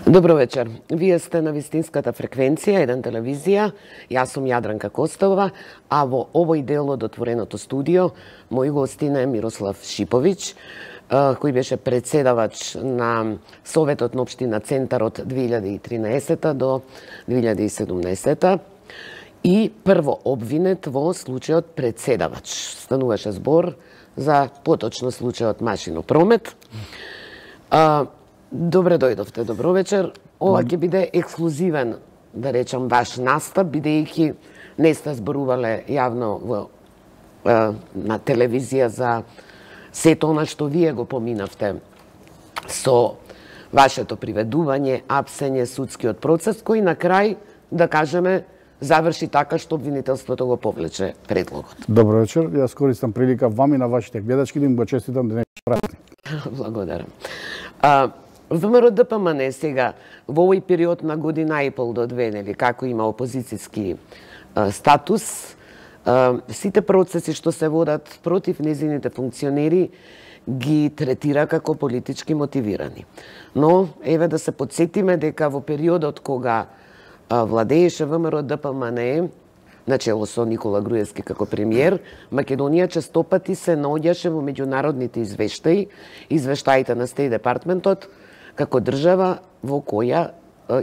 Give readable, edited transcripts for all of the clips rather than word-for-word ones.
Добро вечер. Вие сте на вистинската фреквенција, еден телевизија. Јас сум Јадранка Костова, а во овој дел од отвореното студио мој гостин е Мирослав Шиповиќ, кој беше председавач на Советот на општина Центар од 2013 до 2017 и прво обвинет во случајот председавач. Стануваше збор за поточно случајот машинопромет. Добре дојдовте, добро вечер. Ова ќе биде ексклузивен, да речам, ваш настап, бидејќи не сте зборувале јавно на телевизија за сето она што вие го поминавте со вашето приведување, апсење, судскиот процес, кој на крај, да кажеме, заврши така што обвинителството го повлече предлогот. Добро вечер. Јас користам прилика вам и на вашите гледачки да им го честитам денешен празник. Благодарам. ВМРО ДПМН сега во овој период на година и пол до две, нели, како има опозицијски статус, сите процеси што се водат против незините функционери ги третира како политички мотивирани. Но еве да се потсетиме дека во периодот кога владееше ВМРО ДПМН, начело со Никола Груевски како премиер, Македонија честопати се наоѓаше во меѓународните извештаите на Стејт департментот, како држава во која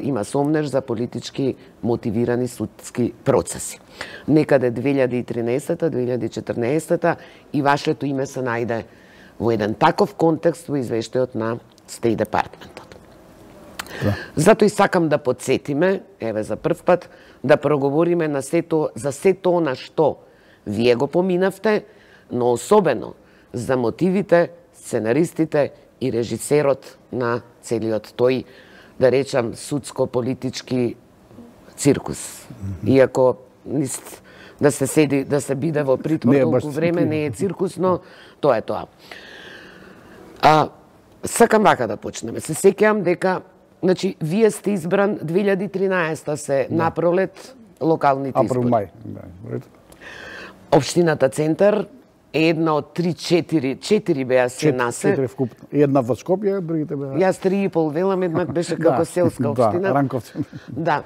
има сомнеж за политички мотивирани судски процеси. Некаде 2013-2014 и вашето име се најде во еден таков контекст во извештајот на Стејт департментот. Да. Затоа и сакам да подсетиме, еве за прв пат, да проговориме за сето она што вие го поминавте, но особено за мотивите, сценаристите и режисерот на целиот тој, да речам, судско-политички циркус. Иако да се седи, да се биде во притвор толку време не е циркус, но тоа е тоа. Сакам вака да почнеме. Се сеќавам дека, значи, вие сте избран 2013 се напролет локалните избори. Општината Центар е една од 4 беа се насе. 4 вкупно. Една во Скопје, другите беа. Јас 3,5 велам, еднак беше како селска општина. Да, Ранковци. Да.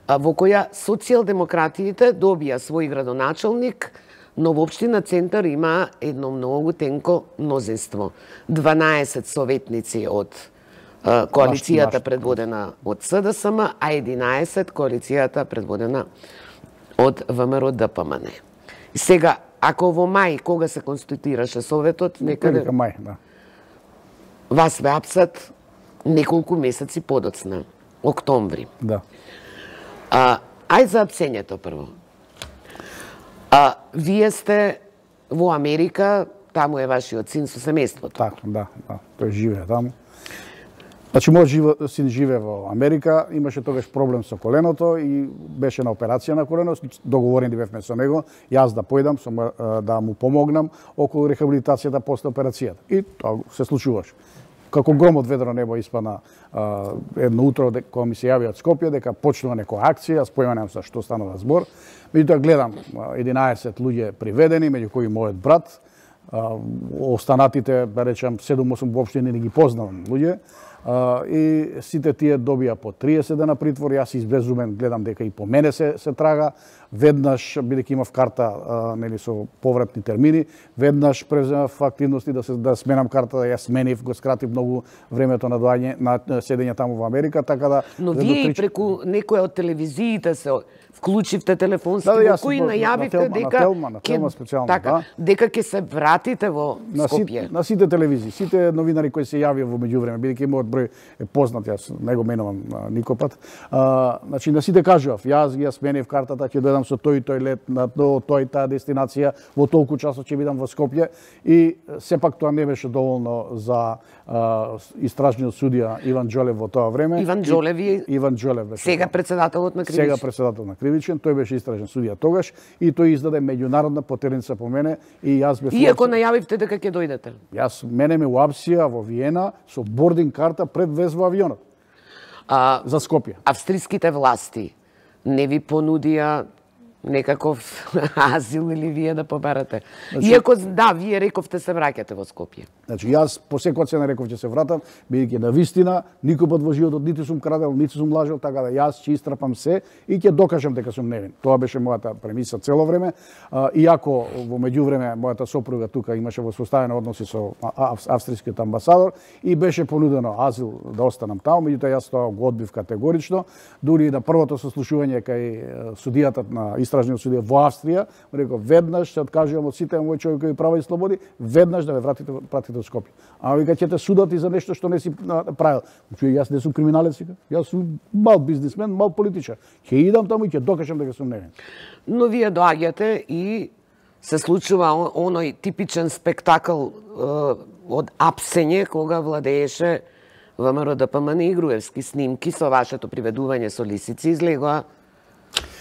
Во која социјалдемократиите добија свој градоначалник, но во општина Центар има едно многу тенко мнозинство. 12 советници од коалицијата предводена од СДСМ, а 11 коалицијата предводена од ВМРО ДПМН. Сега, ако во мај, кога се конституираше Советот, некаде... мај, да. Вас ве апсат неколку месеци подоцна, октомври. Да. Ај за апсењето прво. Вие сте во Америка, таму е вашиот син со семејството. Така, да. Тој живее таму. Значи, мојот син живее во Америка, имаше тогаш проблем со коленото и беше на операција на колено, договорени бевме со него, јас да појдам, да му помогнам околу рехабилитацијата после операцијата. И тоа се случуваше. Како гром од ведро небо испадна едно утро кога ми се јави од Скопје дека почнува некоја акција, јас појманам за што станува збор. Меѓутоа гледам 11 луѓе приведени, меѓу кои мојот брат, останатите, да речам, 7-8 воопште не ги познавам луѓе. И сите тие добија по 30 дена притвор, јас избезумен гледам дека и по мене се трага, веднаш, бидејќи имав карта нели со повратни термини, веднаш преземав активности да сменам карта, да ја сменив, го скратив многу времето на доаѓање на седење таму во Америка, така да... Но вие и преку некоја од телевизиите се вклучивте телефонски, во кои најавивте дека дека ќе се вратите во Скопје. На сите телевизии, сите новинари кои се јавија во меѓувреме, бидејќи мојот број е познат, јас не го менувам никопат. Значи на сите кажував, јас ги сменив картата, ќе дојдам со тој и тој лет на тој таа дестинација, во толку часот ќе бидам во Скопје и сепак тоа не беше доволно за истражниот судија Иван Џолев во тоа време. Иван Џолев беше. Сега председателот на Кривичен. Сега председател на Кривичен, тој беше истражен судија тогаш и тој издаде меѓународна потерница по мене и јас бев... Иако најавивте дека ќе дојдете. Мене ме уапсија во Виена со бординг карта пред влез во авионот. За Скопје. Австриските власти не ви понудија некаков азил или вие да побарате. Иако, да, вие рековте се враќате во Скопје. Значи, јас по секоја цена реков ќе се вратам, бидејќи на вистина, никој пат во животот ниту сум крадел, ниту сум лажел, така да јас ќе истрапам се и ќе докажам дека сум невин. Тоа беше мојата премиса цело време. Иако во меѓувреме мојата сопруга тука имаше воспоставени односи со австријскиот амбасадор и беше понудено азил да останам таму, меѓутоа јас тоа го одбив категорично, дури и на првото сослушување кај судијата на истражниот судија во Австрија, реков веднаш се откажувам од сите мои човекови права и слободи, веднаш да ме пратите во Скопје. А вика ќе те судат и за нешто што не си правил. Чуј, јас не сум криминалец, јас сум мал бизнисмен, мал политичар. Ќе идам таму и ќе докажам дека сум невин. Но вие доаѓате и се случува оној типичен спектакл од апсење кога владееше ВМРО ДПМН и Груевски снимки со вашето приведување со лисици излегоа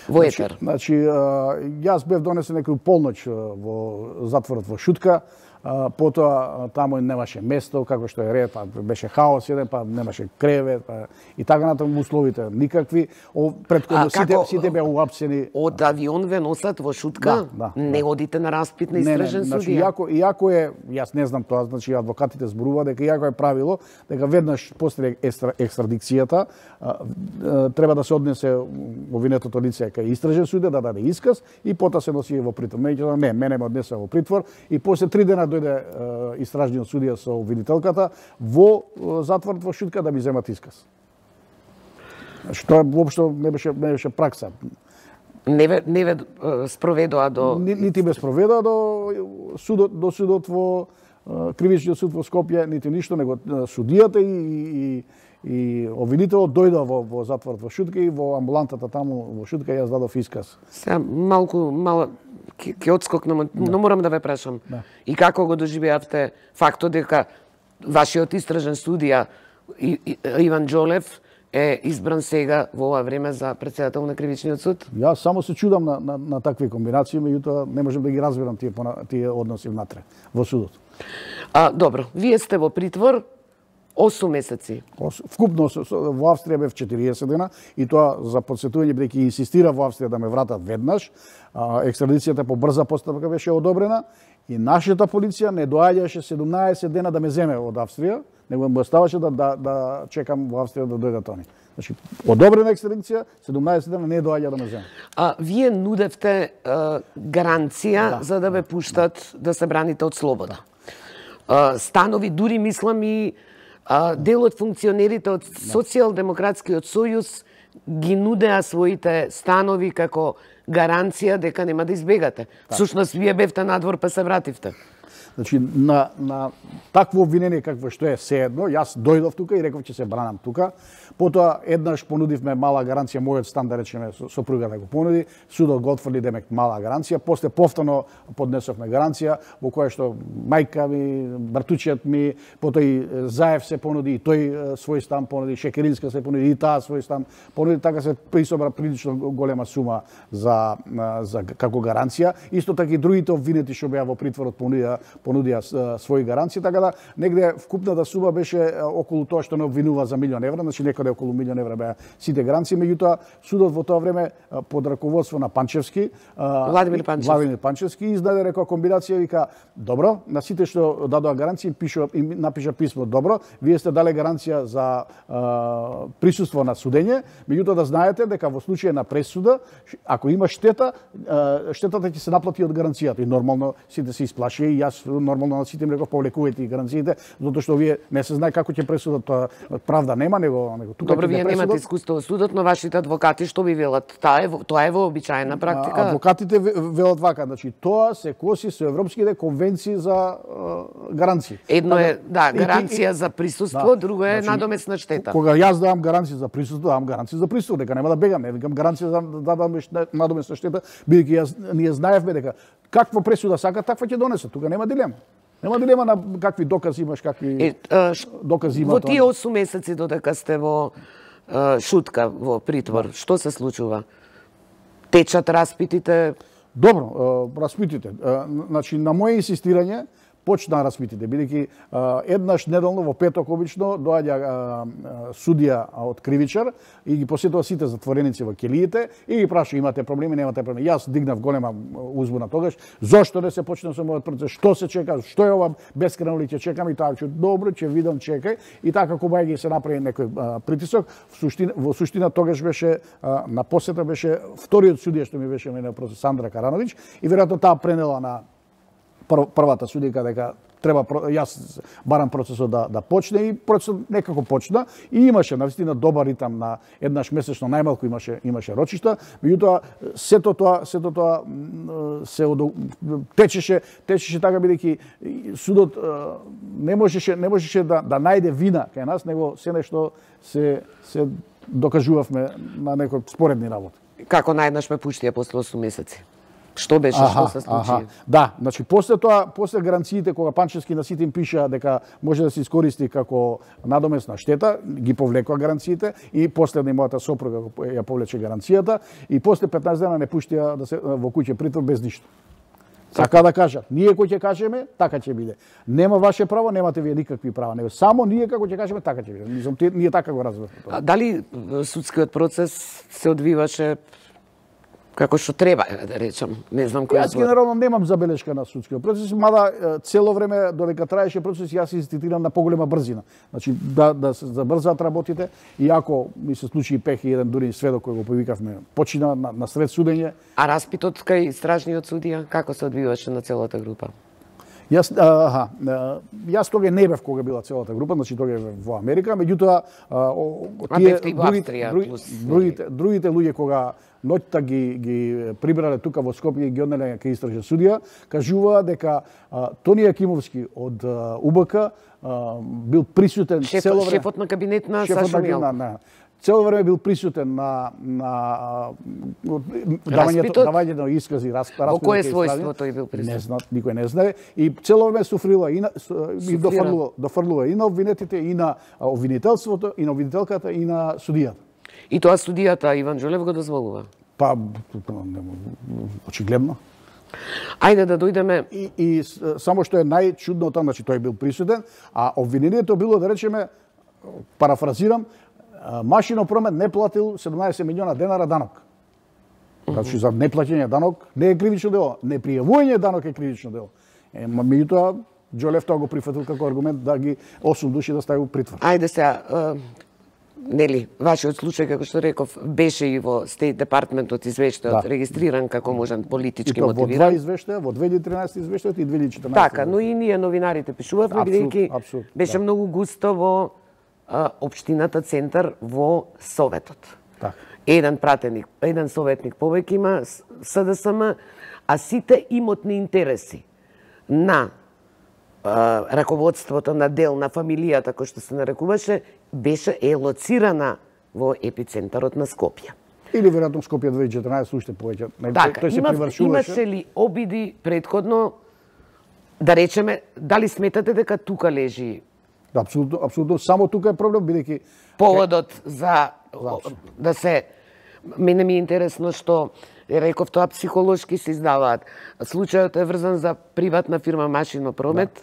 во етер. Значи, јас бев донесен некој полноќ во затворот во Шутка, потоа таму немаше место, како што е ред, па беше хаос еден, па немаше кревет, па и така натаму условите никакви. Претходно сите беа уапсени. Од авион ве носат во Шутка? Не одите на распит на истражен судија? Иако е, јас не знам тоа, значи адвокатите зборува дека иако е правило дека веднаш после екстрадикцијата треба да се однесе обвинетото лице кај истражен судија да даде исказ и потоа се носи во притвор. Меѓутоа не, мене ме однесе во притвор и после 3 дена дојде истражниот судија со обвинителката во затворот во Шутка да ми земат исказ. Што воопшто не беше пракса. Не ве спроведоа до нити ме спроведоа до судот во кривичниот суд во Скопје, нити ништо, него судијата и обвинителот дојдоа во затворот во Шутка и во амбулантата таму во Шутка јас дадов исказ. Сега мало ќе одскокнам, но морам да ве прашам. И како го доживеавте фактот дека вашиот истражен судија Иван Џолев е избран сега во ова време за претседател на кривичниот суд? Јас само се чудам на такви комбинации, меѓутоа не можам да ги разберам тие односи внатре во судот. Добро, вие сте во притвор 8 месеци. Вкупно во Австрија бев 40 дена и тоа за подсетување бидејќи инсистира во Австрија да ме вратат веднаш. Екстрадицијата по брза постапка беше одобрена и нашата полиција не доаѓаше 17 дена да ме земе од Австрија, него ме оставаше да чекам во Австрија да дојдат они. Значи, одобрена екстрадиција, 17 дена не доаѓа да ме земе. Вие нудевте гаранција за да ве пуштат да се браните од слобода. Станови, дури мислам и дел од функционерите од Социјалдемократскиот сојуз ги нудеа своите станови како гаранција дека нема да избегате. Всушност, вие бевте надвор па се вративте. Значи, на такво обвинение какво што е seedno, јас дојдов тука и реков ќе се бранам тука. Потоа еднаш понудивме мала гаранција, мојот стан да речеме сопруга да го понуди, судот го отфрли демек мала гаранција, после повторно поднесовме гаранција во која што мајка ми, братучиот ми, потоа и Заев се понуди, и тој свој стан понуди, Шекеринска се понуди, и таа свој стан понуди, така се присобра прилично голема сума за како гаранција. Исто така и другите обвинети што беа во притворот понудија своји гаранции, така да негде вкупната сума беше околу тоа што не обвинува за €1.000.000, значи некаде околу €1.000.000 беа сите гаранции, меѓутоа судот во тоа време под раководство на Панчевски, Владимир Панчевски издаде рекоа комбинација, вика добро, на сите што дадоа гаранции напиша писмо, добро, вие сте дале гаранција за присуство на судење, меѓутоа да знаете дека во случај на пресуда, ако има штета, штетата ќе се наплати од гаранцијата и нормално сите се исплашија и јас нормално на сите им реков повлекувајте гаранциите, затоа што вие не се знае како ќе пресудат, тоа правда нема, него тука. Добро, вие немате искуство во судот, но вашите адвокати што ви велат? Тоа е вообичаена практика. Адвокатите велат вака, значи тоа се коси со европските конвенции за гаранции. Едно е, гаранција за присуство, друго е надомесна штета. Кога јас давам гаранција за присуство, давам гаранција за присуство, дека нема да бегам, не викам гаранција за надомесна штета, бидејќи ние знаевме дека каква пресуда сака, таква ќе донесат. Тука нема дилема. Нема дилема на какви докази имаш, какви докази имат. Во тие 8 месеци додека сте во Шутка, во притвор, што се случува? Течат распитите? Добро, распитите. Значи, на моје инсистирање, почнаа распитите, бидејќи еднаш неделно во петок обично доаѓа судија од кривичар и ги посетува сите затвореници во келиите и ги праша имате проблеми, немате проблеми. Јас дигнав голема узбуна тогаш, зошто не се почне со мојот процес, што се чека, што е ова бескрајно ли ќе чекам и таа ќе добро, ќе видам, чекај и така кога ги се направи некој притисок, во суштина тогаш беше на посета беше вториот судија што ми беше мене процес Сандра Карановиќ и веројатно таа пренела на првата судика дека треба јас барам процесот да почне и процесот некако почна и имаше навистина добар ритам на еднаш месечно најмалку имаше рочишта, меѓутоа сето тоа се течеше така бидејќи судот не можеше да најде вина кај нас, него се нешто се докажувавме на некои споредни работи. Како најднаш ме пуштија после 8 месеци? Што беше, што се случи? Да, значи после гаранциите кога Панчевски на сите им пиша дека може да се искористи како надомесна штета, ги повлекоа гаранциите и последна мојата сопруга ја повлече гаранцијата и после 15 дена не пуштија да се во куќа притвор без ништо. Така да кажат, ние кој ќе кажеме, така ќе биде. Нема ваше право, немате вие никакви права. Не, само ние како ќе кажеме, така ќе биде. Ние така го разбираме. Дали судскиот процес се одвиваше како што треба, да речам, не знам кој. Јас генерално немам забелешка на судскиот процес, мада цело време додека траеше процес јас инсистирам на поголема брзина. Значи да се забрзаат работите и ако ми се случи пех и еден дури сведок кој го повикавме почина на сред судење. А распитот кај стражниот судија како се одвиваше на целата група? Јас тога не бев кога била целата група, значи тога е во Америка, меѓутоа другите луѓе кога ноќта ги прибрале тука во Скопје и ги однеле кај истражен судија, кажува дека Тони Јакимовски од УБК бил присутен цело време. Шефот на кабинет на Сашо Милков. Цело време бил присутен на давањето на искази, Во кое својство тој бил присутен? Не знат, никој не знае. И цело време суфрила и дофрлува и на обвинетите, и на обвинителството, и на обвинителката, и на судијата. И тоа судијата Иван Џолев го дозволува? Па, очигледно. Ајде да дојдеме. И само што е најчудното, значи тој бил присутен, а обвинението било, да речеме, парафразирам, Машино промет не платил 17 милиона денара данок. Значи за неплаќање данок не е кривично дело, непријавување данок е кривично дело. Меѓутоа Џолев тоа го прифатил како аргумент да ги 8 души да стави у притвор. Ајде сега, нели, вашиот случај, како што реков, беше и во Стейт Департментот извештајот регистриран како можен политички мотивиран. Во два извештаја, во 2013 извештајот и 2014. Така, но и ние новинарите пишувавме, бидејќи беше многу густо во општината Центар во Советот. Так. Еден советник повеќе има СДСМ, а сите имотни интереси на раководството на дел на фамилијата, кој што се нарекуваше, беше лоцирана во епицентарот на Скопје. Или веројатно Скопје 2014 уште повеќе. Така, тој се привршуваше. Имаше ли обиди предходно, да речеме, дали сметате дека тука лежи? Апсолутно, само тука е проблем, бидејќи поводот за да се, мене ми е интересно што реков тоа психолошки се издаваат. Случајот е врзан за приватна фирма Машино промет,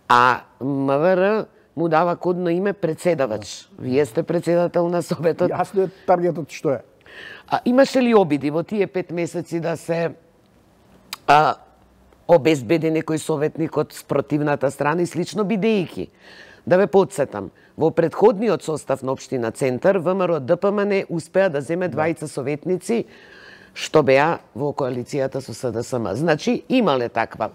а МВР му дава кодно име председавач. Вие сте председател на Советот. Јасно е таргетот што е. Имаше ли обиди во тие 5 месеци да се обезбеди некој советник од спротивната страна и слично, бидејќи, да ве подсетам, во претходниот состав на општина Центар, ВМРО ДПМН успеа да земе двајца советници што беа во коалицијата со СДСМ. Значи, имале таква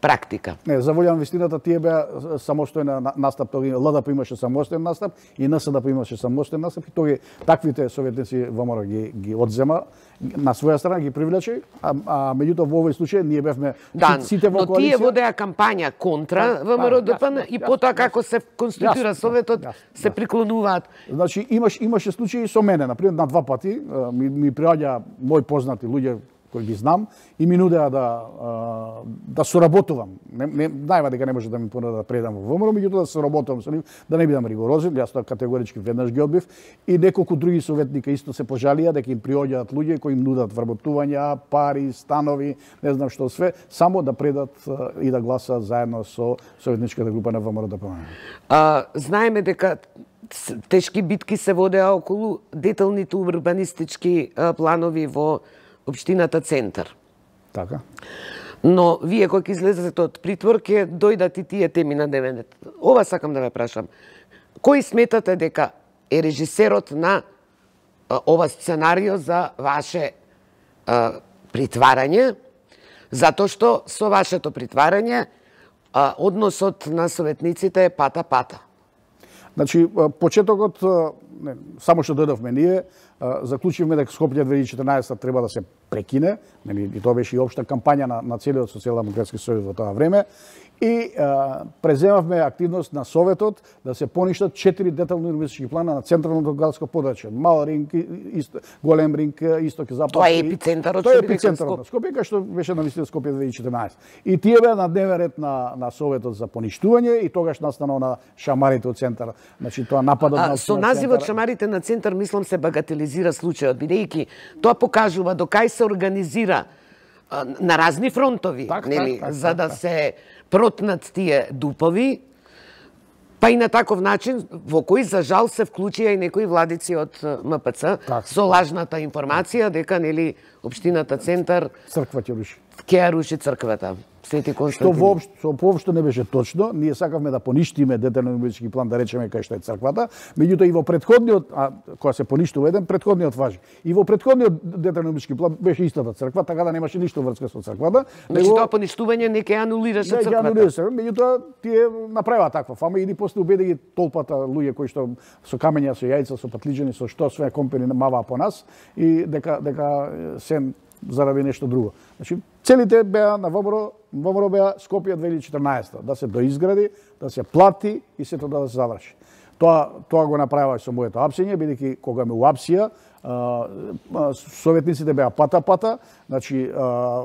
практика. Не, за волја на вистината, тие беа самостојна настап, ЛДП имаше самостоен настап и НСДП имаше самостоен настап и тој таквите советници ВМРО ги одзема на своја страна, ги привлече, а меѓутоа во овој случај ние бевме сите во коалиција. Но тие водеа кампања контра ВМРО ДПМН и потоа како се конституира Советот се приклонуваат. Значи имаше случаи со мене, например, на 2 пати ми приаѓа мои познати луѓе кои ги знам и ми нудеа да соработувам. Знаеме дека не може да ми понудат да предам во ВМРО, меѓутоа да соработувам со нив, да не бидам ригорозен, јас тоа категорички веднаш ги одбив и неколку други советника исто се пожалија дека им приоѓаат луѓе кои им нудат вработувања, пари, станови, не знам што све, само да предат и да гласаат заедно со советничката група на ВМРО ДПМН. Знаеме дека тешки битки се водеа околу деталните урбанистички планови во општината Центар. Така. Но вие кога излезете од притвор ќе дојдат и тие теми на дневен ред. Ова сакам да ве прашам. Кој сметате дека е режисерот на ова сценарио за ваше притварање? Затоа што со вашето притварање односот на советниците е пата-пата. Значи, почетокот, само што дојдовме ние, заклучивме дека Скопје 2014 треба да се прекине, и тоа беше и општа кампања на целиот социјалдемократски сојуз во тоа време, и преземавме активност на Советот да се поништат 4 детални урбанистички плана на централното градско подрачје. Мал Ринг, Голем Ринг, Исток и Запад. Тоа е епицентарот Тоа е епицентарот на Скопје, кај што беше навистина Скопје 2014. И тие беа на дневен ред на Советот за поништување и тогаш настанал на шамарите од Центар. Значи тоа нападот на со називот шамарите на Центар мислам се багателизира случајот, бидејќи тоа покажува до кај се организира на разни фронтови, нели, за да се протнат тие дупови, па и на таков начин во кој за жал се вклучија и некои владици од МПЦ со лажната информација дека нели општината Центар црква ќе руши. Ќе ја руши црквата. Свети Константин. Што воопшто не беше точно. Ние сакавме да поништиме детален урбанистички план, да речеме кај што е црквата, меѓутоа и во претходниот, кога се поништува еден, претходниот важи. И во претходниот детален урбанистички план беше истата црква, така да немаше ништо врска со црквата. Значи тоа поништување не ќе анулираше црквата. Меѓутоа тие направаа таква фама и после убеди ги толпата луѓе кои што со камења, со јајца, со патлиџани, со што све компани маваа по нас и дека се заради нешто друго. Значи, целите беа на ВМРО беа Скопје 2014 да се доизгради, да се плати и сето да се заврши. Тоа го направија со моето апсење, бидејќи кога ме уапсија, советниците беа пата-пата, значи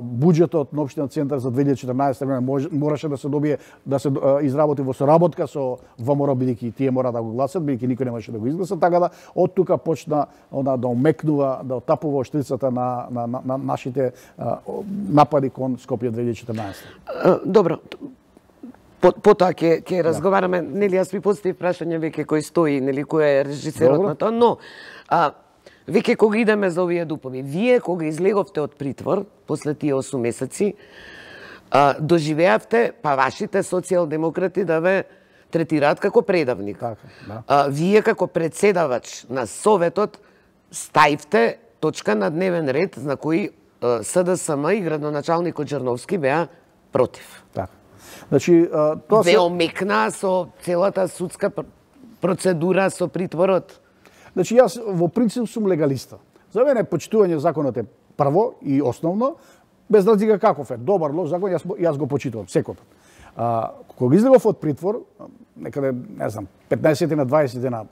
буџетот на општина Центар за 2014 година мораше да се добие, да се изработи во соработка со ВМРО, бидејќи тие мора да го гласат, бидејќи никој не можеше да го изгласа, така да од тука почна да омекнува, да отапува штрицата на нашите напади кон Скопје 2014. Добро. Потоа ќе разговараме, нели јас ви поставив прашање веќе кој стои, нели кој е режисерот на тоа, но веќе кога идеме за овие дупови, вие кога излеговте од притвор после тие 8 месеци, доживеавте па вашите социјалдемократи да ве третираат како предавник. Така, да. Вие како председавач на Советот ставивте точка на дневен ред на кој СДСМ и градоначалникот Джерновски беа против. Така. Значи, тоа ве омекна со целата судска процедура со притворот. Значи, јас во принцип сум легалиста. За мене почитување законот е прво и основно, без разлика каков е, добар, лош закон, јас го почитувам секој пат. Кога излегов од притвор, некаде, не знам, 15 на 20 дена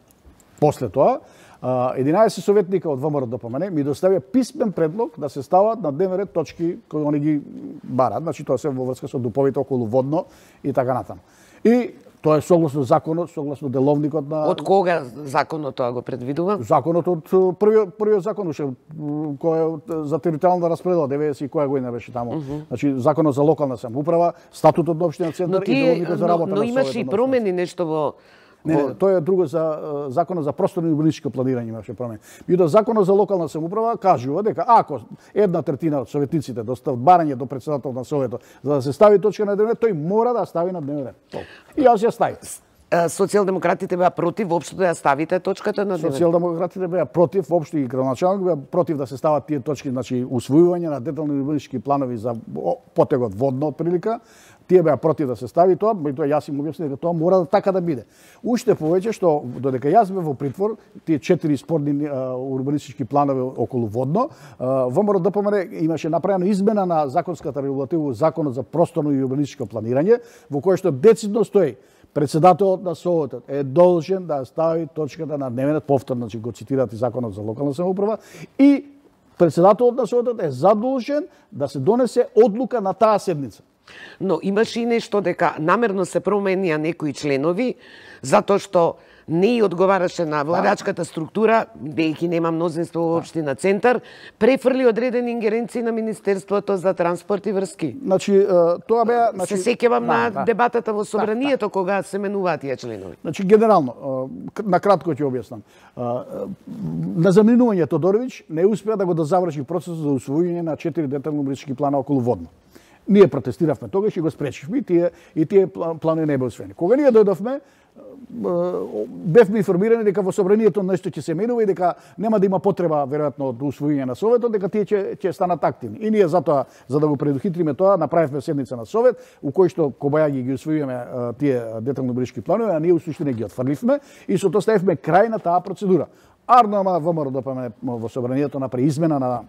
после тоа, 11 советника од ВМРО ДПМН ми доставија писмен предлог да се стават на дневен ред точки кои они ги барат, значи тоа се во врска со дуповите околу водно и така натаму. И тоа е согласно законот, согласно деловникот на... Од кога законот тоа го предвидува? Законот од првиот закон уште кој е за територијална распредела 90 и која година беше таму. Значи законот за локална самоуправа, статутот на општина Центар и деловникот за работа на Советот. Но имаше и промени нешто во... Не, тоа е друго за законот за просторно и урбанистичко планирање имаше промени. Меѓутоа законот за локална самоуправа кажува дека ако 1/3 од советниците достават барање до председател на Советот за да се стави точка на дневен ред, тој мора да стави на дневен ред. И јас ја ставив. Социјалдемократите беа против воопшто да ја ставите точката на дневен ред. Социјалдемократите беа против, воопшто и градоначалник беа против да се стават тие точки, значи усвојување на детални урбанистички планови за потегот водно отприлика. Тие беа против да се стави тоа, меѓутоа јас им објаснив дека тоа мора да така да биде. Уште повеќе што додека јас бев во притвор, тие 4 спорни урбанистички планови околу водно, ВМРО ДПМН имаше направена измена на законската регулатива, законот за просторно и урбанистичко планирање, во кој што децидно стои председателот на Советот е должен да стави точката на дневен ред, повторно, значи го цитирате законот за локална самоуправа и председателот на Советот е задолжен да се донесе одлука на таа седница. Но имаше и нешто дека намерно се променија некои членови, затоа што не и одговараше на владачката структура, бидејќи нема мнозинство во општина Центар, префрли одредени ингеренции на Министерството за транспорт и врски. Значи, тоа беа... Се сеќавам на дебатата во Собранието, кога се менуваат тие членови. Значи, генерално, накратко ќе објаснам. На заминување Тодоровиќ не успеа да го заврши процесот за усвојување на 4 детални урбанистички плана околу Водно. Ние протестиравме тогаш и го спречивме и тие планови не беа усвоени. Кога ние дојдовме, бевме информирани дека во Собранието нешто ќе се менува и дека нема да има потреба веројатно од усвојување на Советот, дека тие ќе станат активни. И ние затоа, за да го предухитриме тоа, направивме седница на Совет, у кој што кобајаги ги усвојуваме тие детални урбанистички планови, а ние у суштина ги отфрливме и со тоа ставивме крај на таа процедура. АРНОМ ВМРО во Собранието направи измена на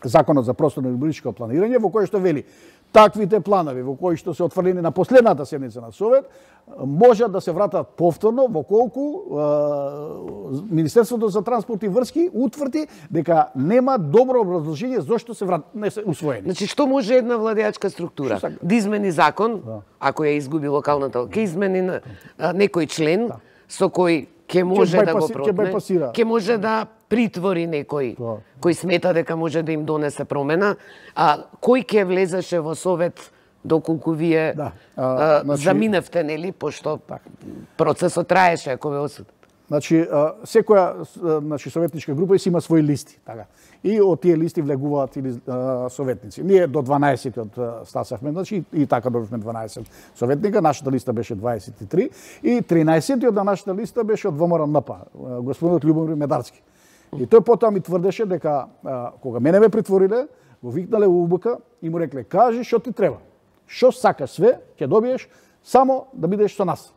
Законот за просторно и урбанистичко планирање, во кој што вели таквите планови во кои што се отфрлени на последната седница на Совет можат да се вратат повторно во колку Министерството за транспорт и врски утврди дека нема добро образложение зошто не се усвоени. Значи, што може една владеачка структура? Да измени закон, ако ја изгуби локалната, ќе измени некој член со кој ќе може да го протне, ќе може да притвори некој кој смета дека може да им донесе промена, а кој ќе влезеше во Совет доколку вие заминевте, нели, пошто процесот траеше, ако ве осудат. Значи, секоја советничка група си има своји листи, така. И од тие листи влегуваат или советници. Ние до 12 стасавме, значи и така добивме 12 советника, нашата листа беше 23 и 13 од нашата листа беше од ВМРО-НП, господинот Љубомир Медарски. И тој потоа ми тврдеше дека кога мене ме притвориле, го викнале у УБК и му рекле: "Кажи што ти треба. Што сакаш све, ќе добиеш, само да бидеш со нас."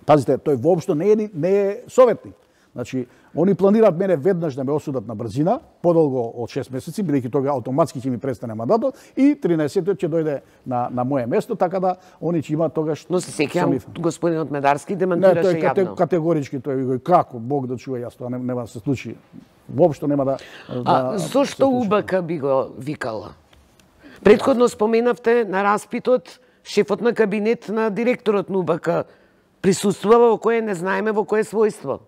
Пазите, тој воопшто не е советник. Значи, они планираат мене веднаш да ме осудат на брзина, подолго од 6 месеци, бидејќи тога автоматски ќе ми престане мандатот, и 13-тиот ќе дојде на моје место, така да они ќе имаат тогаш... Но се сеќавам, господинот Медарски демантираше јавно. Не, тој категорички тој го како Бог да чува, јас тоа нема да се случи. Воопшто нема да... Зошто УБК би го викала? Претходно споменавте на распитот шефот на кабинет на директорот на УБК присуствува во кое не знаеме во кое својство.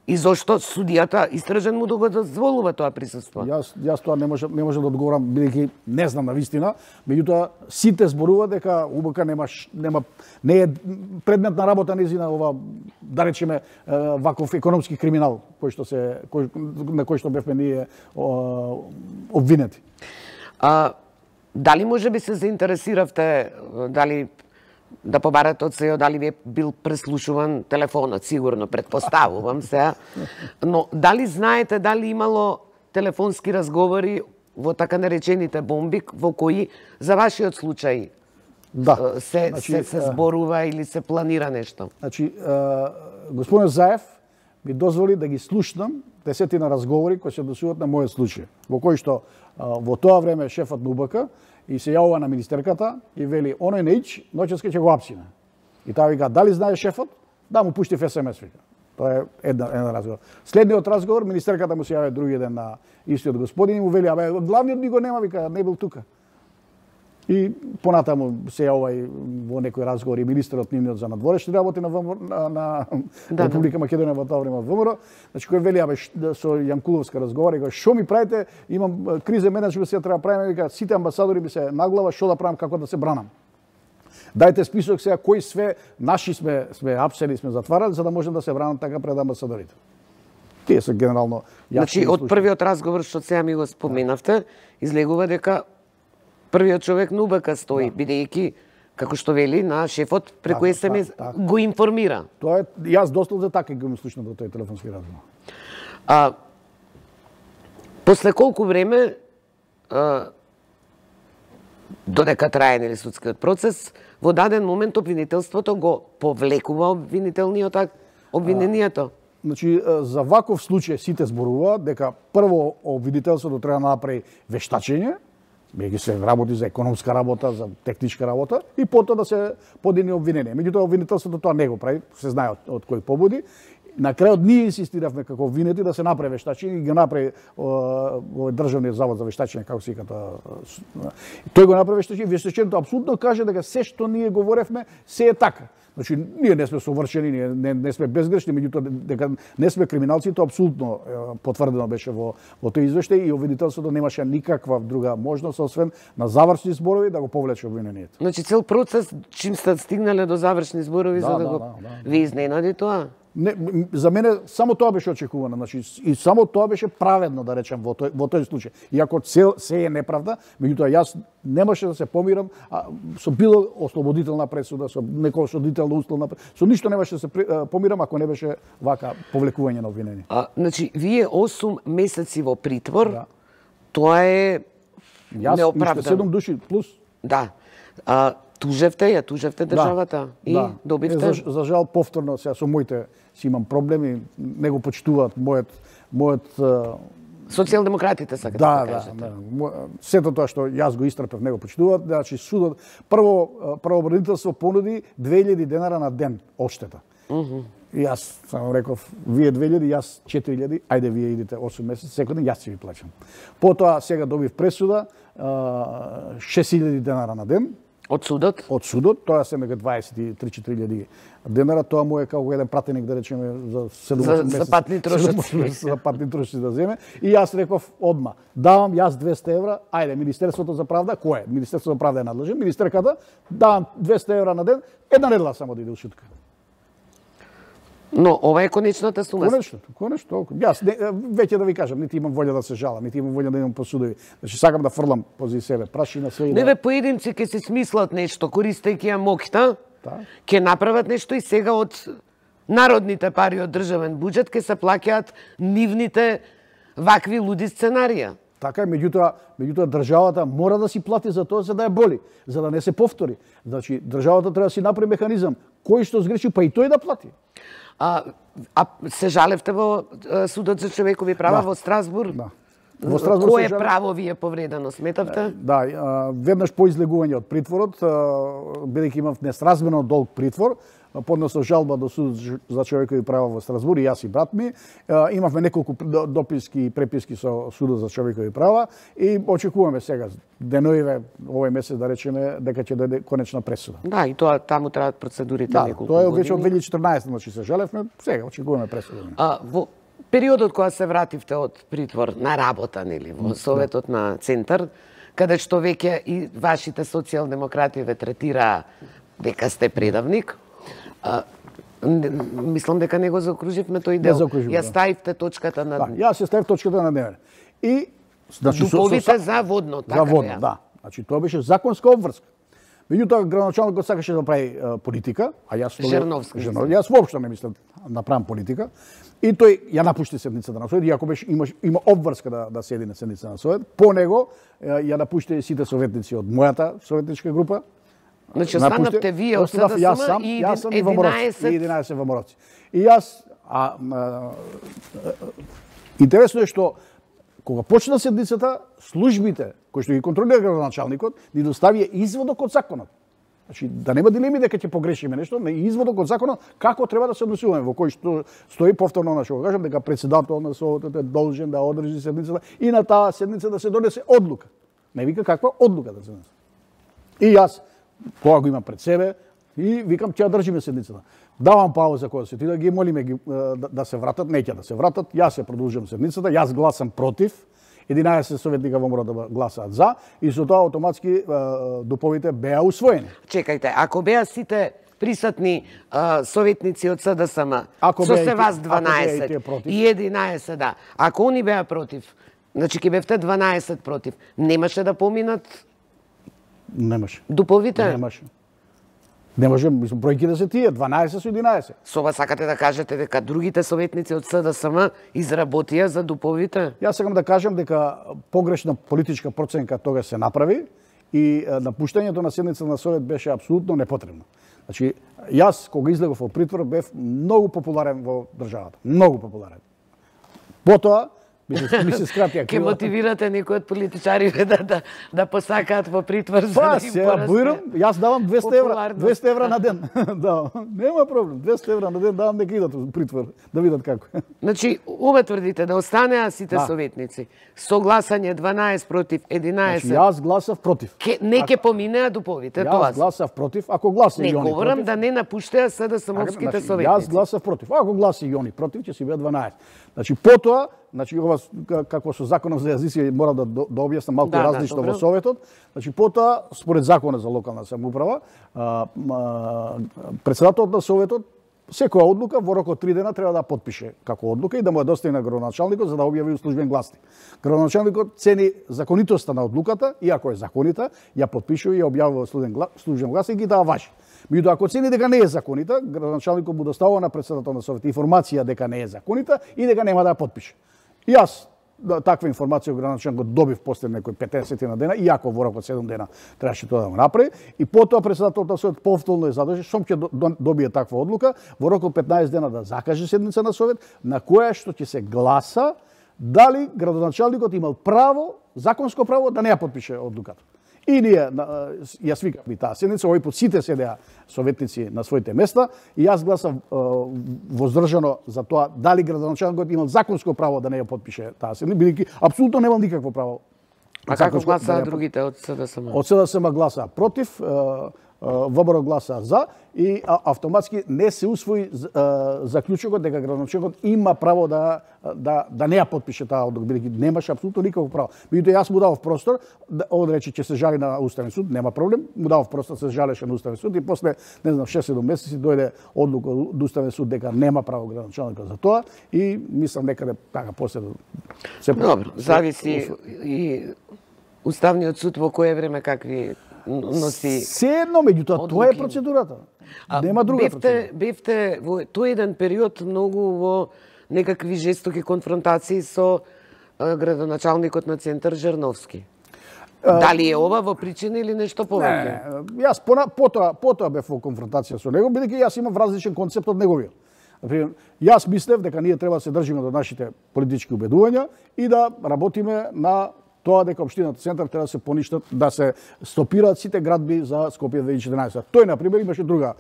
И зошто судијата истражен му да го дозволува тоа присуство? Јас тоа не можам да одговорам, бидејќи не знам на вистина, меѓутоа сите зборува дека УБК не е предмет на работа незина ова, да речеме, ваков економски криминал на кој што бевме ние обвинети. Дали може би се заинтересиравте, дали да побарате од СЕО дали ви е бил преслушуван телефонот, сигурно, предпоставувам се, но дали знаете дали имало телефонски разговори во така наречените бомби, во кои за вашиот случај се зборува или се планира нешто? Значи, господин Заев ми дозволи да ги слушнам 10 разговори кои се однесуваат на мојот случај, во кој што во тоа време шефот на УБК и се јавува на министерката и вели: "Оној неич, ноќеска ќе го апсиме." И таа вика: "Дали знае шефот?" "Да, му пуштив СМС." вика. Тоа е еден разговор. Следниот разговор, министерката му се јави други ден на истиот господин и му вели: "Абе, главниот ми го нема," вика, "не бил тука." И понатаму се јавува и во некој разговор и министерот нивниот за надворешни работи на Република Македонија во тоа време ВМРО. Значи кој вели: "Абе, со Јанкуловска разговара и кога што ми правите, имам криза менеджмент, се треба правиме," вика, "сите амбасадори ми се наглава, што да правам, како да се бранам. Дајте список сега кои све наши сме апсени, сме затварали, за да можем да се бранам така пред амбасадорите." Тие се генерално јасни. Значи од првиот разговор што сега ми го споменавте, излегува дека првиот човек на УБК стои, бидејќи, како што вели, на шефот преку СМС го информира. Тоа е, јас дословно така го слушнав до тој телефонски разговор. После колку време, додека трае нели судскиот процес, во даден момент обвинителството го повлекува обвинението? Значи, за ваков случај сите зборуваат дека прво обвинителството треба да направи вештачење, бидејќи се работи за економска работа, за техничка работа, и потоа да се подигне обвинение. Меѓутоа, обвинителството тоа не го прави, се знае од кој побуди. на крајот ние инсистиравме како винети да се направи вештачење и го направи овој државниот завод за вештачење, како се вика, тој го направи вештачење. Вештачењето апсолутно каже дека се што ние говоревме се е така. Значи, ние не сме совршени, ние не сме безгрешни, меѓутоа дека не сме криминалци, тоа апсолутно потврдено беше во тој извештај и обвинителството немаше никаква друга можност освен на завршни зборови да го повлече обвинението. Значи цел процес чим сте стигнале до завршни зборови за да го ви изненади тоа? Не, за мене само тоа беше очекувано, значи и само тоа беше праведно да речем во тој случај. Иако се е неправда, меѓутоа јас немаше да се помирам со било ослободителна пресуда, со некоја осудителна условна пресуда, со ништо немаше да се помирам ако не беше вака повлекување на обвинение. Значи вие 8 месеци во притвор, тоа е неоправдано. Јас 7 души плюс. Да. Тужевте државата и добивте? За жал повторно сега со моите си имам проблеми, не го почитуваат мојот социјалдемократите сакате да кажете. Да, сето тоа што јас го истрпев не го почитуваат, значи судот правообранителство понуди 2000 денара на ден одштета. И јас само реков, вие 2000, јас 4000, ајде вие идите 8 месеци, секој ден јас ќе ви плаќам. Потоа сега добив пресуда 6000 денара на ден. Од судот? Од судот, тоа се нека 23-4000 денара, тоа му е како еден пратеник да речеме за 7 месеци. За патни трошоци. За патни трошоци да земе. И јас реков одма, давам јас 200 евра, ајде, Министерството за правда, кој е? Министерството за правда е надлежен, министерката, давам 200 евра на ден, една недела само да иде у шутка. Но ова е конечната сума. Конечно, толку. Јас веќе да ви кажам, нити имам волја да се жалам, нити имам волја да идам по судови. Значи сакам да фрлам пози себе прашина све и Не бе поединци ќе се смислат нешто користејќи ја моќта. Ќе направат нешто и сега од народните пари од државен буџет ќе се плаќаат нивните вакви луди сценарија. Така е, меѓутоа државата мора да си плати за тоа за да ја боли, за да не се повтори. Значи државата треба да си направи механизам кој што сгреши, па и тој да плати. Се жалевте во Судот за човекови права во Страсбург? Да. Во Страсбург кое право ви е повредено, сметавте? Да, веднаш по излегување од притворот, бидејќи имав несразмерно долг притвор, поднесов жалба до Судот за човекови права во Страсбург и јас и брат ми. Имавме неколку дописки и преписки со Судот за човекови права и очекуваме сега деноиве овој месец да речеме дека ќе дојде конечна пресуда. Да, и тоа таму траат процедурите неколку години. Тоа е години. веќе од 2014, значи се жалевме, сега очекуваме пресуда. Во периодот кога се вративте од притвор на работа, нели, во Советот на Центар, каде што веќе и вашите социјалдемократи ве третира дека сте предавник, мислам дека не го заокруживме тој дел. Ја ставивте точката на дневен. Јас ја ставив точката на дневен. И значи дуповите за водно, така. За водно, да. Значи тоа беше законска обврска. Меѓутоа градоначалникот сакаше да прави политика, а јас Жерновски. Јас воопшто не мислам да правам политика. И тој ја напушти седницата на Совет, иако беше има обврска да седи на седницата на Совет. По него ја напушти сите советници од мојата советничка група. Значи останавте вие од СДСМ и 11 ВМРО-ци. И јас интересно е што кога почна седницата, службите кои што ги контролира градоначалникот ни доставија изводок од законот. Значи да нема дилеми дека ќе погрешиме нешто, не изводок од законот како треба да се однесуваме, во кој што стои повторно на што го кажам дека претседател на Советот е должен да одржи седницата и на таа седница да се донесе одлука. Не вика каква одлука да се донесе. И јас тоа го имам пред себе и викам ќе ја држиме седницата. Давам пауза кога се ти да ги молиме да се вратат, неќе да се вратат, јас ја продолжувам седницата, јас гласам против, 11 советника во да гласаат за и со тоа автоматски дуповите беа усвоени. Чекајте, ако беа сите присутни советници од СДСМ, со се вас 12 и 11, да, ако они беа против, значи ќе бевте 12 против, немаше да поминат? Немаше. Дуповите? Немаше. Не може, мислам, бројките се тие, 12 со 11. Со ова сакате да кажете дека другите советници од СДСМ изработија за дуповите? Јас сакам да кажам дека погрешна политичка проценка тога се направи и напуштањето на седница на Совет беше апсолутно непотребно. Значи, јас кога излегов во притвор бев многу популарен во државата, многу популарен. Потоа ми се скратија Ке мотивирате некои од политичарите да посакаат во притвор за Па, да им се порасне. буирам, јас давам 200 евра, популарност. 200 евра на ден. Да, нема проблем. 200 евра на ден давам нека идат во притвор, да видат како. Значи, ова тврдите да останеа сите Да. советници. Со гласање 12 против 11. Значи, јас гласав против. Не ке поминеа дуповите, тоа. Јас гласав против, ако гласа Не и они говорам против. да не напуштеа СДСМовските Значи, советници. јас гласав против. Ако гласа и они против, ќе си бидат 12. Значи, потоа, ова како со законот за јазици мора да објаснам малку Да, различно добро. во советот. Значи, потоа, според законот за локална самоуправа, председателот на советот секоја одлука во рок од 3 дена треба да подпише како одлука и да му ја достави на градоначалникот за да објави у службен гласник. Градоначалникот цени законитоста на одлуката и ако е законита, ја подпишува и ја објавува во службен гласник и таа важи. Меѓутоа, ако цени дека не е законита, градоначалникот му доставува на председател на совет информација дека не е законита и дека нема да ја подпише. И јас таква информација од градоначалникот добив после некои 50 на дена, иако во рок од 7 дена требаше тоа да го направи, и потоа председателот на совет повторно е задолжен, што ќе добие таква одлука, во рок од 15 дена да закаже седница на совет, на која што ќе се гласа дали градоначалникот имал право, законско право да не ја подпише одлуката. И ние ја свикавме таа седница, овој пат сите седеа советници на своите места и јас гласав воздржано за тоа дали градоначалникот имал законско право да не ја подпише таа седница, бидејќи апсолутно немал никакво право. А како гласаа другите од СДСМ? Од СДСМ гласаа против, ВБР гласа за и автоматски не се усвои заклучокот дека градоначалникот има право да не ја подпише таа одлука, бидејќи немаше апсолутно никакво право. Меѓутоа јас му давав простор, он рече ќе се жали на Уставен суд, нема проблем, му давав простор се жалеше на Уставен суд и после не знам 6-7 месеци дојде одлука од Уставен суд дека нема право градоначалникот за тоа и мислам некаде така после се Добро, зависи и Уставниот суд во кое време какви носи. Се едно, меѓутоа тоа е процедурата. Нема друга процедура. Бевте во тој еден период многу во некакви жестоки конфронтации со градоначалникот на Центар Жерновски. Дали е ова во причина или нешто повеќе? Не, јас потоа бев во конфронтација со него, бидејќи јас имам различен концепт од неговиот. Например, јас мислев дека ние треба да се држиме до нашите политички убедувања и да работиме на тоа дека општината Центар треба да се поништат, да се стопираат сите градби за Скопје 2014. Тој на пример имаше друга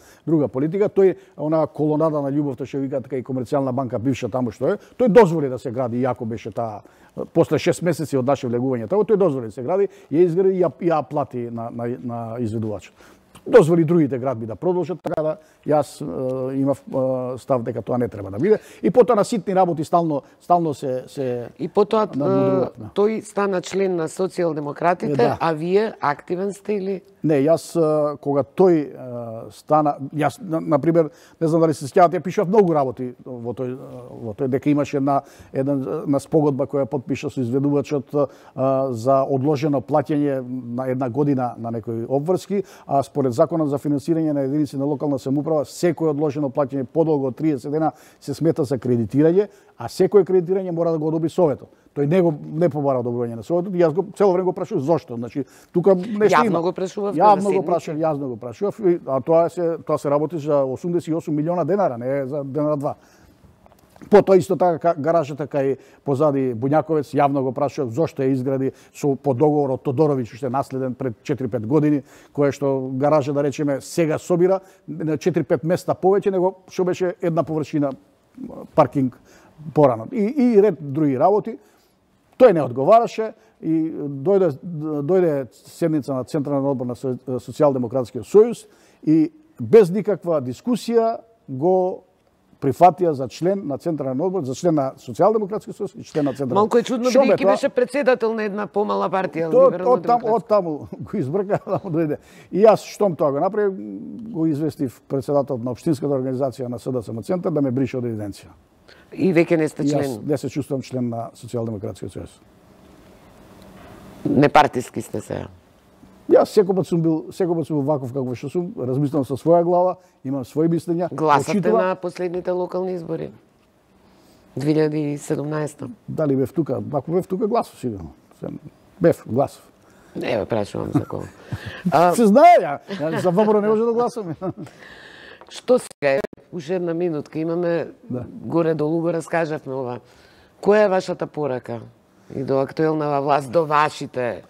политика, тој она колонада на љубовта што викаат така и комерцијална банка бивша таму што е, тој дозволи да се гради иако беше таа после 6 месеци од наше влегување таму, тој дозволи да се гради, ја изгради и ја плати на изведувачот. Дозволи другите градби да продолжат, така да јас имав став дека тоа не треба да биде. И потоа на ситни работи стално се И потоа тој стана член на социјалдемократите, Да. а вие активен сте или? Не, јас кога тој стана, јас на пример, не знам дали се сеќавате, ја пишав многу работи во тој дека имаше една спогодба која подпиша со изведувачот за одложено плаќање на една година на некои обврски, а според законот за финансирање на единици на локална самоуправа, секој одложено плаќање подолго од 30 дена се смета за кредитирање, а секој кредитирање мора да го одобри советот. Тој не побара одобрување на советот и јас цело време го прашував зошто. Значи, тука нешто има. Јавно го прашувавте Јавно го прашував, а тоа се работи за 88 милиона денара, не за денара два. Потоа исто така гаражата кај позади Буњаковец јавно го прашував зошто ја изгради по договор од Тодоровиќ уште наследен пред 4-5 години, кое што гаража да речеме сега собира на 4-5 места повеќе него што беше една површина паркинг порано. И ред други работи. Тој не одговараше и дојде седница на Централен одбор на Социјалдемократскиот сојуз и без никаква дискусија го прифатија за член на Централен одбор, за член на Социјалдемократскиот сојуз и член на Централен. Малку е чудно бидејќи беше председател на една помала партија. Од таму го избрка, таму дојде. И јас штом тоа го направив, го известив председателот на општинската организација на СДСМ Центар да ме брише од евиденција. И веќе не сте член? Јас не се чувствувам член на Социјалдемократскиот сојуз. Непартиски сте се? Јас секој пат сум ваков како што сум, размислувам со своја глава, имам своји мислења. Гласате на последните локални избори? 2017. Дали бев тука? Ако бев тука, гласов сигурно. Бев, гласов. Не бе прашувам за кого. Се знае, ја за ВБР не може да гласам. Што сега е? Уште една минутка имаме, горе долу го раскажавме ова. Која е вашата порака и до актуелнава власт, до вашите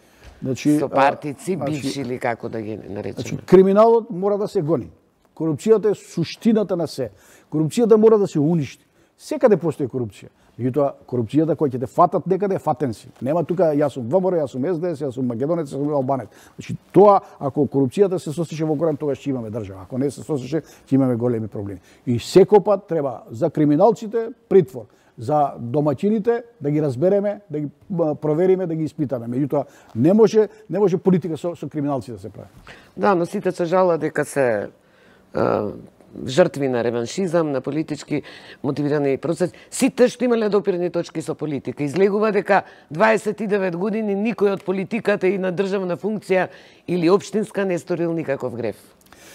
сопартици, бивши или како да ги наречеме? Криминалот мора да се гони. Корупцијата е суштината на се. Корупцијата мора да се уништи. Секаде постои корупција. Меѓутоа, корупцијата која ќе те фатат некаде, фатен си. Нема тука, јас сум ВМРО, јас сум СДС, јас сум македонец, јас сум албанец. Значи, тоа, ако корупцијата се сосеше во корен, тогаш ќе имаме држава. Ако не се сосеше, ќе имаме големи проблеми. И секој пат треба за криминалците притвор, за домаќините да ги разбереме, да ги провериме, да ги испитаме. Меѓутоа, не може политика со криминалци да се прави. Да, но сите се жала дека се жртви на реваншизам, на политички мотивирани процеси. Сите што имале допирни точки со политика. Излегува дека 29 години никој од политиката и на државна функција или општинска не сторил никаков греф.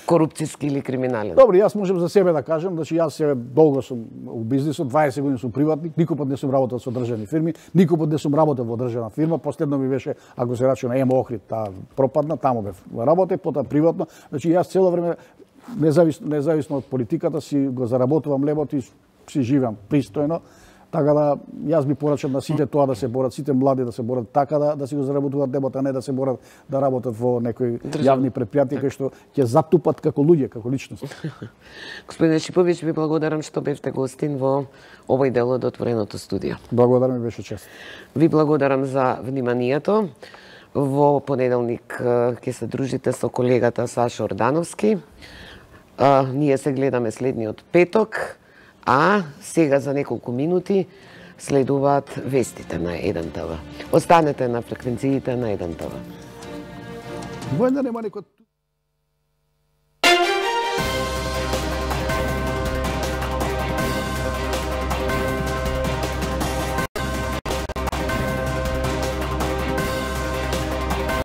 Корупцијски или криминален. Добро, јас можам за себе да кажам, значи јас се долго сум у бизнисот, 20 години сум приватник, никој пат не сум работел со државни фирми, никој пат не сум работел во државна фирма, последно ми беше, ако се рачуна ЕМО Охрид, таа пропадна, таму бев работев, потоа приватно. Значи јас цело време независно од политиката си го заработувам лебот и си живеам пристојно. Така да јас би порачал на сите тоа да се борат, сите млади да се борат така да си го заработуваат лебот, а не да се борат да работат во некои јавни предпријатија кои што ќе затупат како луѓе, како личности. Господине Шиповиќ, ви благодарам што бевте гостин во овој дел од отвореното студио. Благодарам, ми беше чест. Ви благодарам за вниманието. Во понеделник ќе се дружите со колегата Сашо Ордановски. Ние се гледаме следниот петок, а сега за неколку минути следуваат вестите на 1 ТВ. Останете на фреквенциите на 1 ТВ. Војна нема некој